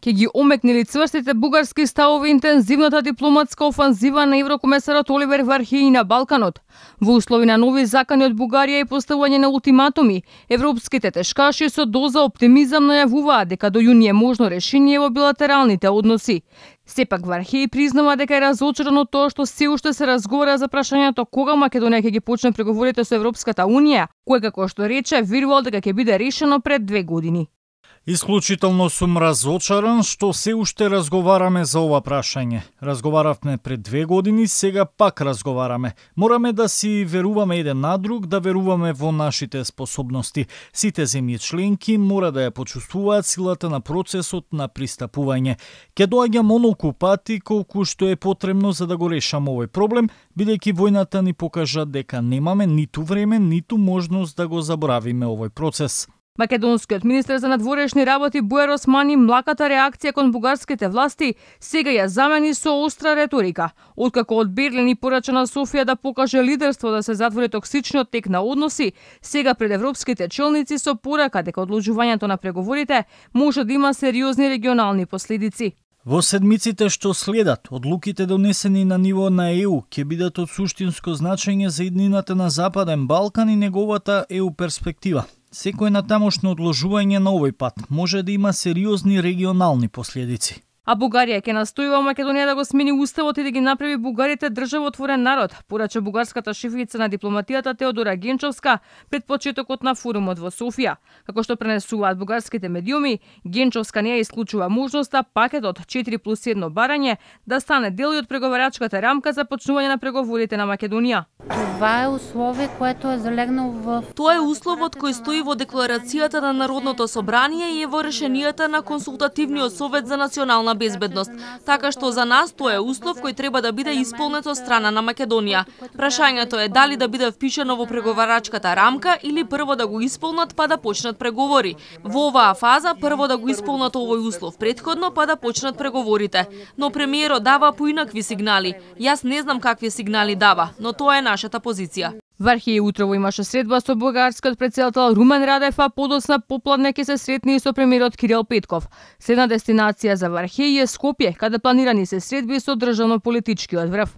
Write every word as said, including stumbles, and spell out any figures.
Ке ги омекнили цврстите бугарски ставови интензивната дипломатска офанзива на еврокомесарот Оливер Вархеи на Балканот. Во услови на нови закани од Бугарија и поставување на ултиматуми, европските тешкаши со доза оптимизам најавуваат дека до јуни е можно решение во билатералните односи. Сепак Вархеи признава дека е разочаран од тоа што се уште се разговара за прашањето кога Македонија ќе ги почне преговорите со Европската Унија, кое како што рече верувал дека ќе биде решено пред две години. Исклучително сум разочаран што се уште разговараме за ова прашање. Разговаравме пред две години, сега пак разговараме. Мораме да си веруваме еден на друг, да веруваме во нашите способности. Сите земји членки мора да ја почувствуваат силата на процесот на пристапување. Ке доаѓам онолку пати колку што е потребно за да го решам овој проблем, бидејќи војната ни покажа дека немаме ниту време, ниту можност да го заборавиме овој процес. Македонскиот министер за надворешни работи Буер Османи млаката реакција кон бугарските власти сега ја замени со остра реторика. Откако од Берлин и порача на Софија да покаже лидерство да се затвори токсичниот тек на односи, сега пред европските челници со порака дека одложувањето на преговорите може да има сериозни регионални последици. Во седмиците што следат, одлуките донесени на ниво на Е У ќе бидат од суштинско значење за иднината на Западен Балкан и неговата Е У перспектива. Секој натамошно одложување на овој пат може да има сериозни регионални последици. А Бугарија ќе настојува Македонија да го смени уставот и да ги направи бугарите државотворен народ, порача бугарската шефица на дипломатијата Теодора Генчовска пред почетокот на форумот во Софија. Како што пренесуваат бугарските медиуми, Генчовска не ја исклучува можноста пакетот четири плюс едно барање да стане дел од преговарачката рамка за почнување на преговорите на Македонија. Това е условие което е залегнало в Тоа е условот кој стои во декларацијата на Народното собрание и е во решенијата на Консултативниот совет за национална безбедност. Така што за нас тоа е услов кој треба да биде исполнет од страна на Македонија. Прашањето е дали да биде впишано во преговарачката рамка или прво да го исполнат па да почнат преговори. Во оваа фаза прво да го исполнат овој услов претходно па да почнат преговорите. Но премиерот дава поинакви сигнали. Јас не знам какви сигнали дава, но тоа е нашата позиција. Вархеи утрово имаше средба со бугарскиот претседател Румен Радев, а подоцна попладне ќе се сретни и со премиерот Кирил Петков. Следна дестинација за Вархеи е Скопје, каде планирани се средби со државно-политичкиот врв.